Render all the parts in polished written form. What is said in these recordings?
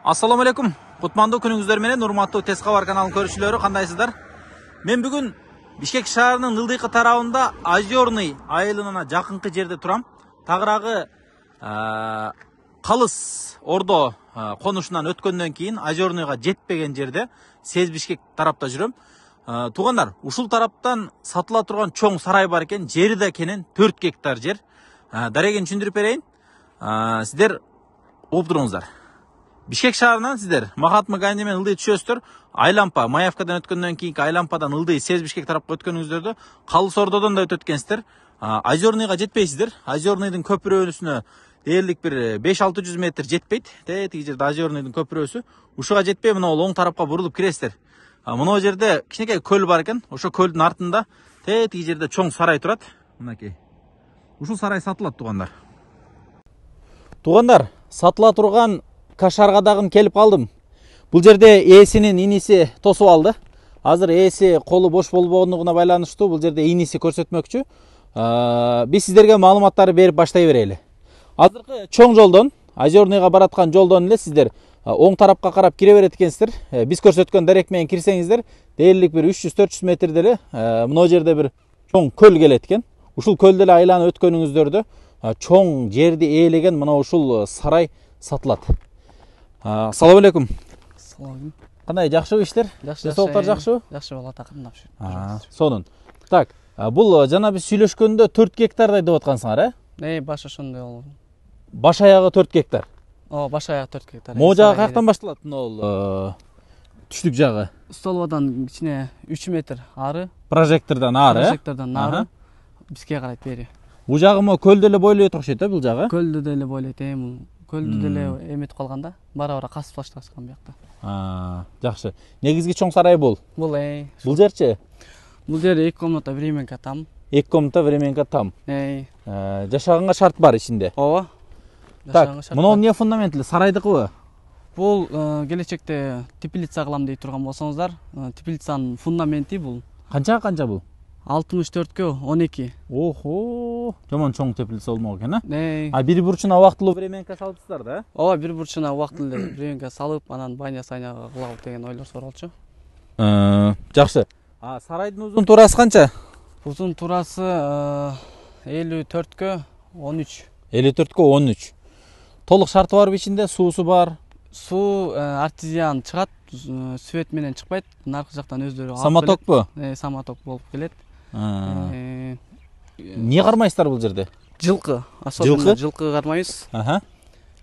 Assalamu alaikum. Кутмандуу күнүңүздөр менен урматтуу Тез кабар каналынын көрүүчүлөрү, кандайсыздар? Мен бүгүн Бишкек шаарынын ылдыйкы тарабында Озерный айылына жакынкы жерде турам. Тагыраагы Калыс Ордо конушунан өткөндөн кийин Озерныйга жетпеген жерде Сез Бишкек тарапта жүрөм. Туугандар, ушул тараптан сатыла турган чоң сарай бар экен, жери да кенен 4 гектар жер. Дарегин түшүндүрүп берейин. Сиздер угуп туруңуздар. Бишкек шаарынан сиздер Махатма Ганди менен ылдый түшөсүздөр. Айлампа, Маевкадан өткөндөн кийинки Айлампадан ылдый Сез Бишкек тарапка өткөнүңүздөрдө Калыс Ордодон да өтөт экенсиздер. Озерныйга жетпейсиздер. Озерныйдын көпүрөсүнө дээрлик бир 5-600 метр жетпейт. Тиги жерде Озерныйдын көпүрөсү. Ушуга жетпей мына оң тарапка бурулуп киресиздер. Мына жерде кичинекей көл бар экен. Ошо көлдүн артында тиги жерде чоң сарай турат. Мынакей. Ушул сарай сатылат, туугандар. Туугандар, сатыла турган Кашарга дагы келип калдым. Бул жерде ээсинин иниси тосуп алды. Азыр ээси колу бош болбогондугуна байланыштуу бул жерде иниси көрсөтмөкчү. Биз сиздерге маалыматтарды берип баштай берели. Азыркы чоң жолдон, Озерныйга бараткан жолдон эле сиздер оң тарапка карап кире берет экенсиздер. Биз көрсөткөн дарек менен кирсеңиздер, дээрлик бир 300-400 метрде эле мына жерде бир чоң көл келет экен. Ушул көлдө эле айланып өткөнүңүздөрдө чоң жерди ээлеген мына ушул сарай сатылат. Ассаламу алейкум. Ассаламу. Кандай, жакшыбы иштер? Жакшы. Соолуктар жакшыбы? Жакшы болот, акырындап. Сонун. Так, бул жана биз сүйлөшкөндө 4 гектардай деп аткансыңар, Баш ошондой болду. Баш аягы 4 гектар. Баш аяк 4 гектар. Могу жагы каяктан башталат? Мына түштүк жагы. Столбадан кичине 3 метр ары. Прожектордон ары. Прожектордон ары. Бизге карайт бери. Бул жагы могу көлдө эле бойлойт окшойт, бул жагы? Көлдө деле бойлойт, бул. Көлдө деле эметип калганда, бара-бара касып башташкан биякта. Жакшы. Негизги чоң сарай бул. Бул Бул жерчи? Бул жер 2 комната временка там. 2 комната временка там. Жашаганга шарт бар ичинде. Ооба. Так, мына эмне фундаментли, сарайдыкыбы? Бул келечекте теплица кылам дей турган болсоңуздар, теплицанын фундаменти бул. Канча бул? 64-кө 12. Охо, жаман чоң теплица болмок экен, Бир бурчуна убактылуу временка салыпсыздар да? Ооба, бир бурчуна убактылуу временка салып, анан баня-сайняга кылабыз деген ойлор суралчу. Жакшы. Сарайдын узун туурасы канча? Узун туурасы 54-кө 13. 54-кө 13. Толук шарты бар ичинде, суусу бар. Суу артезиан чыгат, свет менен чыкпайт. Наркы жактан өздөрү алып. Самотокпу? Самоток болуп келет. Эмне кармайсыздар бул жерде? Жылкы, особенно жылкы кармайбыз.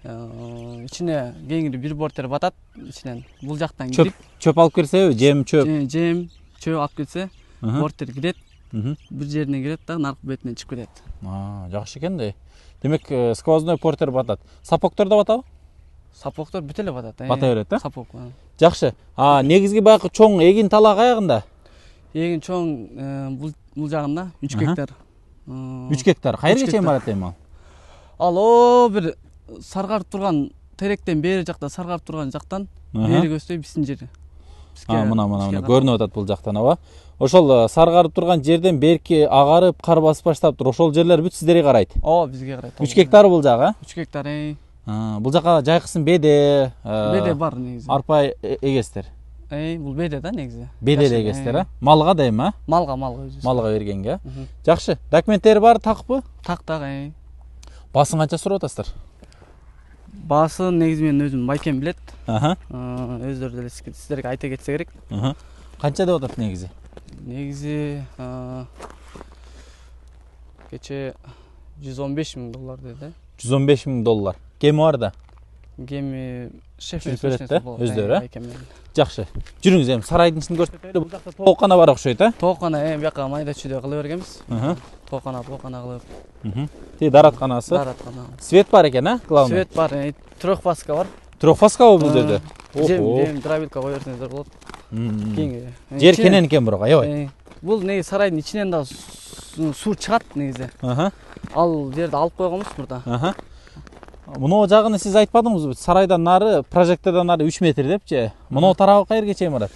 Ичине кеңири бир бортер батат ичинен. Бул жактан кирип, чөп алып келсе, жем, чөп. Жем, чөп алып келсе, бортер кирет. Бир жерине кирет да наркы бетинен чыгып кетет. Жакшы экен да. Демек, сквозной портер батат. Сапоктор да батабы? Сапоктор бүт эле батат. Бата берет, Сапок. Жакшы. Негизги баягы чоң эгин талак аягында? Эгин чоң бул жагында 3 гектар. 3 гектар. Кайерге чейин барат эми ал? Ал бир саргарып турган теректен бери жакта саргарып турган жактан бери көздөй биздин жер. Мына көрүнүп атат бул жактан, аба. Ошол саргарып турган жерден берки агарып, кар басып баштаптыр. Ошол жерлер бүт сиздерге карайт. Ооба, бизге карайт. 3 гектар бул жагы? 3 гектар. Бул жака жайкысын беде, бар негизи. Арпа эгесиздер. Бул беде да негизи. Беде эле эгесиздер, Малга да эми, Малга өзү. Малга бергенге. Жакшы. Документтери бар, такпы? Так. Баасын канча сурап атасыздар? Баасын негизи мен өзүм байкем билет. Өздөрү деле сиздерге айта кетсе керек. Канча деп атат негизи? Негизи кече $115,000 деди. $115,000. Кеми бар да? Кеми шеф берет да, өздөрү. Жакшы. Жүрүңүз эми сарайдын ичин көрсөтөлү. Бул жакта тооккана бар окшойт, Тооккана бияка майда чүйдө кыла бергенбиз. Тооккана кылып. Тиги даратканасы. Свет бар экен, главный. Свет бар, трехфаска бар. Трехфаскабы бул жерде? Жем дробилка кое берсеңиздер болот. Жер кенен экен бирок, аябай. Бул негизи сарайдын ичинен да суу чыгат негизи. Ал жерди алып койгонбуз мурда. Мына жагыны сиз айтпадыңызбы? Сарайдан нары, прожектордон нары 3 метр депчи. Мына тарабы кайерге чейин барат?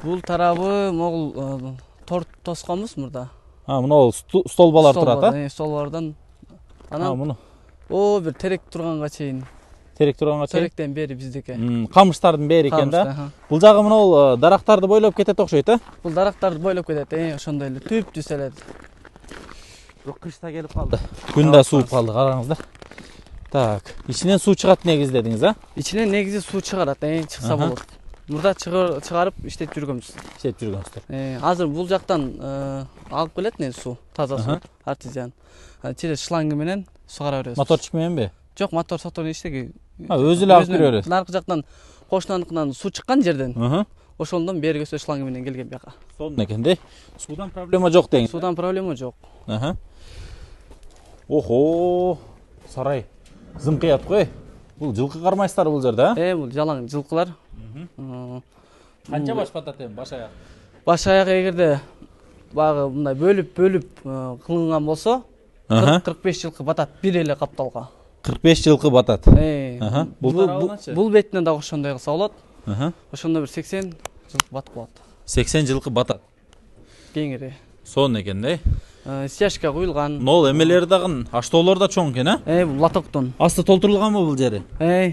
Бул тарабы могул торт тосконбуз мурда. Мына столбалар турат, Столбалардан. Анан бир терек турганга чейин терек турганга чейин. Теректен бери биздики. Камыштардын бери экен да. Камышта, Бул жагы мына дарактарды бойлоп кетет окшойт, а? Бул дарактарды бойлоп кетет, ошондой эле түп-түз эле. Бирок кыш да келип калды. Күн да сууп калды, караңыздар. Так, ичинен суу чыгат негизи дедиңиз, а? Ичинен негизи суу чыгарат, чыкса болот. Мурда чыгарып иштетип жүргөнбүз. Иштетип жүргөнсүздөр. Азыр бул жактан алып келет негизи суу, таза суу, артезиан. Через шланга менен сугара беребиз. Моторчук мененби? Жок, мотор иштеги. Өзү эле алып кире бересиз. Наркы жактан кошунаныкынан суу чыккан жерден. Ошондон берги өсө шланга менен келген бияка. Сонун экен да. Суудан проблема жок деңиз. Суудан проблема жок. Охо, сарай. Зымкыят кой. Бул жылкы кармайсыздар бул жерде, а? Бул жалаң жылкылар. Канча баш батат эми баш аяк? Баш аяк эгерде багы мындай бөлүп кылынган болсо, 40-45 жылкы батат бир эле капталга. 45 жылкы батат. Бул бетине да ошондой кылса болот. Ошондо бир 80 жылкы батып калат. 80 жылкы батат. Кеңири. Сонун экен да. Стяжка куюлган. Нол эмелери дагы аштоолор да чоң экен, а? Бул лотоктон. Асты толтурулганбы бул жери?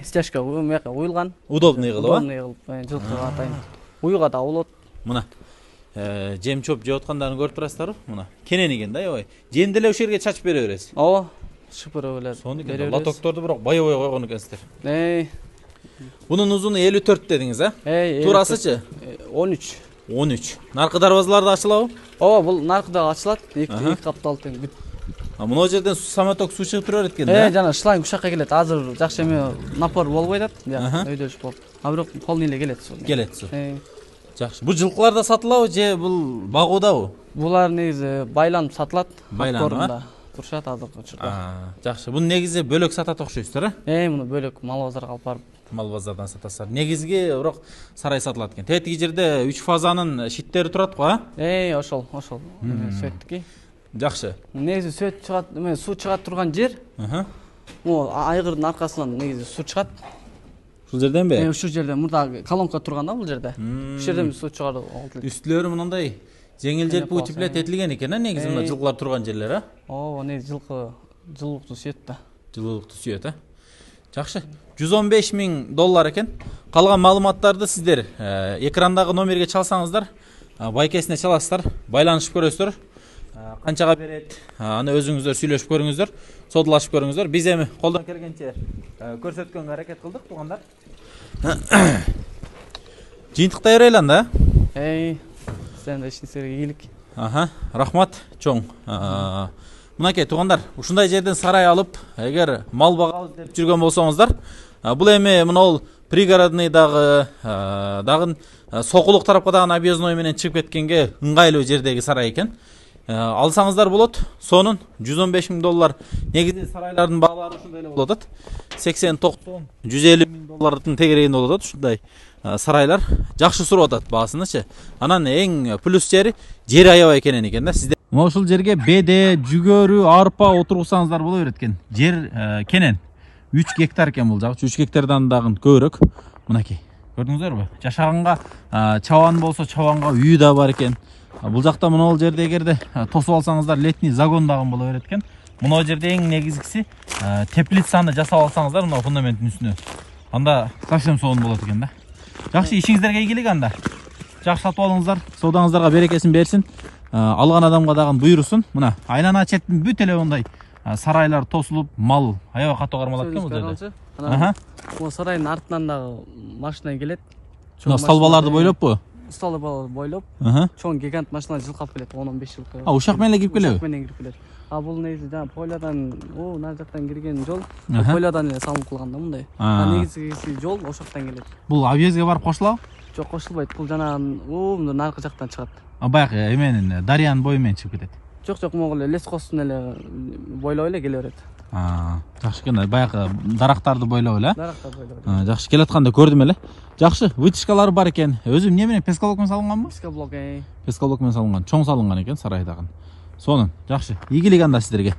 Стяжка куюлган. Удобный кылып, а? Удобный кылып, жылкыга атайын. Уюга да болот. Мына жем чоп жеп аткандарын көрүп турасыздарбы? Мына кенен экен да, аябай. Жемди эле ошол жерге чачып бере бересиз. Ооба, шыпырып эле. Сонун экен. Лотокторду бирок байыбай койгон экенсиздер. Бунун узуну 54 дедиңиз, а? Турасычы? 13. 13. Наркы дарбазалар да ачылабы? Ооба, бул наркыда ачылат. Эки каптал тең бүт. Мына жерден самоток суу чыгып тура берет экен да. Жана шланг ушакка келет. Азыр жакшы эме напор болбой атат. Өйдөш болуп. Бирок полный эле келет суу. Келет суу. Жакшы. Бул жылкылар да сатылабы же бул багуудабы? Булар негизи байланып сатылат. Байланып турушат азыркы учурда. Жакшы. Буну негизи бөлөк сатат окшойсуздар, а? Муну бөлөк мал базарга алып барып. Мал базардан сатасыздар. Негизги бирок сарай сатылат экен. Тетиги жерде 3 фазанын шиттери турат го, а? Ошол. Сөттүки. Жакшы. Негизи сөт чыгат, суу чыгат турган жер. Могу айгырдын аркасынан негизи суу чыгат. Ушул жерденби? Ушул жерден мурда колонка турган да бул жерде. Ушул жерден суу чыгарып алды. Үстүлөрү мындай жеңил желпи утеплет этилген экен, а? Негизи мына жылкылар турган жерлер, а? Ооба, негизи жылкы жылуулукту сүйөт да. Жылуулукту сүйөт, а? Жакшы. $115,000 экен. Калган маалыматтарды сиздер экрандагы номерге чалсаңыздар, байкесине чаласыздар, байланышып көрөсүздөр. Канчага берет? Аны өзүңүздөр сүйлөшүп көрүңүздөр, содулашып көрүңүздөр. Биз эми колдон келгенче көрсөткөнгө аракет кылдык, туугандар. Жыйынтыктай берели анда. Сен да ишиңизге ийгилик. Рахмат, чоң. Мынакей туугандар, ушундай жерден сарай алып, эгер мал багабыз деп жүргөн болсоңуздар, бул эми мына пригородный дагы Сокулук тарапка дагы объездной менен чыгып кеткенге ыңгайлуу жердеги сарай экен. Алсаңыздар болот. Сонун $115,000. Негизи сарайлардын баалары ушундай эле болот атат. 80-90, $150,000 тегерегинде болот атат ушундай сарайлар. Жакшы суруп атат баасынычы. Анан эң плюс жери аябай кенен экен да. Сиздер мына ушул жерге беде, жүгөрү, арпа отургузсаңыздар боло берет экен. Жер кенен. 3 гектар экен бул жагы. 3 гектардан дагы көбүрөөк. Мынакей. Көрдүңүздөрбү? Жашаганга чабан болсо чабанга үй да бар экен. Бул жакта мына жерде эгерде тосуп алсаңыздар летний загон дагы боло берет экен. Мына жерде эң негизгиси теплицаны жасап алсаңыздар мына фундаменттин үстүнө. Анда совсем сонун болот экен да. Жакшы, ишиңиздерге ийгилик анда. Жакшы сатып алыңыздар, соодаңыздарга берекесин берсин. Алган адамга дагы буйрусун. Мына айлана четтин бүт эле мындай сарайлар тосулуп, мал аябай катуу кармалат экен бул жерде. Бул сарайдын артынан дагы машина келет. Мына столбаларды бойлоппу? Столбаларды бойлоп, чоң гигант машина жылкап келет 10-15 жылкы. Ушак менен кирип келеби? Ушак менен кирип келет. Бул негизи жана полядан, нар жактан кирген жол, полядан эле салынып калган да мындай. Негизи жол ошоктон келет. Бул объездге барып кошулабы? Жок, кошулбайт. Бул жана наркы жактан чыгат. Баягы эменин дарыянын бою менен чыгып кетет. Жок, могу эле лескостун эле бойлоп эле келе берет. Жакшы экен, баягы дарактарды бойлоп эле. Дарактарды бойлоп. Жакшы, келатканда көрдүм эле. Жакшы, вытяжкалары бар экен. Өзү эмне менен пескалок менен салынган бу? Пескалок менен салынган, чоң салынган экен сарайдагы. Сонун, жакшы. Ийгилик анда сиздерге.